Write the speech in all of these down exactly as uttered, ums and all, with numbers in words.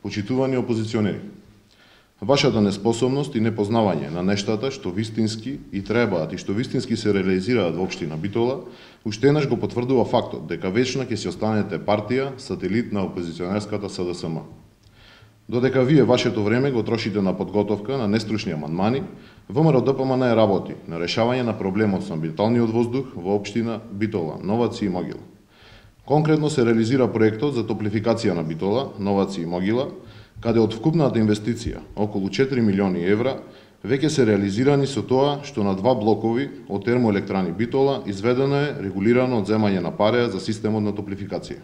Почитувани опозиционери, вашата неспособност и непознавање на нештата што вистински и требаат и што вистински се реализираат во општина Битола, уште еднаш го потврдува фактот дека вечно ќе си останете партија сателит на опозиционерската С Д С М. Додека вие вашето време го трошите на подготовка на нестручни амандмани, В М Р Д П М Н работи на решавање на проблемот со амбиенталниот воздух во општина Битола, Новаци и Могила. Конкретно се реализира проектот за топлификација на Битола, Новаци и Могила, каде од вкупната инвестиција, околу четири милиони евра, веќе се реализирани со тоа што на два блокови од термоелектрани Битола изведено е регулирано одземање на пареа за системот на топлификација.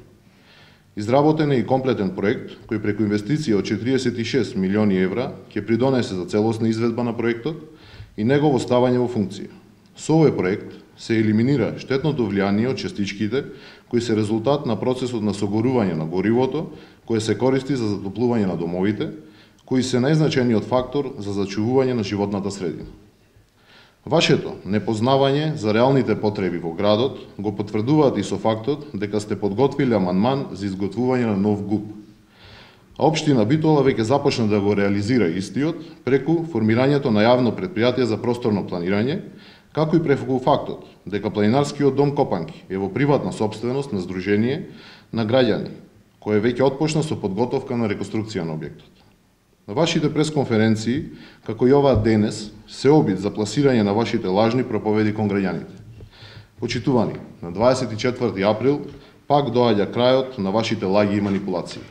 Изработен е и комплетен проект кој преку инвестиција од четириесет и шест милиони евра ќе придонесе за целосна изведба на проектот и негово ставање во функција. Со овој проект се елиминира штетното влијание од частичките кои се резултат на процесот на согорување на горивото кое се користи за затоплување на домовите, кои се најзначајниот фактор за зачувување на животната средина. Вашето непознавање за реалните потреби во градот го потврдуваат и со фактот дека сте подготвиле амандман за изготвување на нов ГУП. А општина Битола веќе започна да го реализира истиот преку формирањето на јавно претпријатие за просторно планирање, како и преку фактот дека планинарскиот дом Копанки е во приватна сопственост на Сдружение на граѓани, кој веќе отпочна со подготовка на реконструкција на објектот. На вашите пресконференции, како и оваа денес, се обид за пласирање на вашите лажни проповеди кон граѓаните. Почитувани, на дваесет и четврти април пак доаѓа крајот на вашите лаги и манипулации.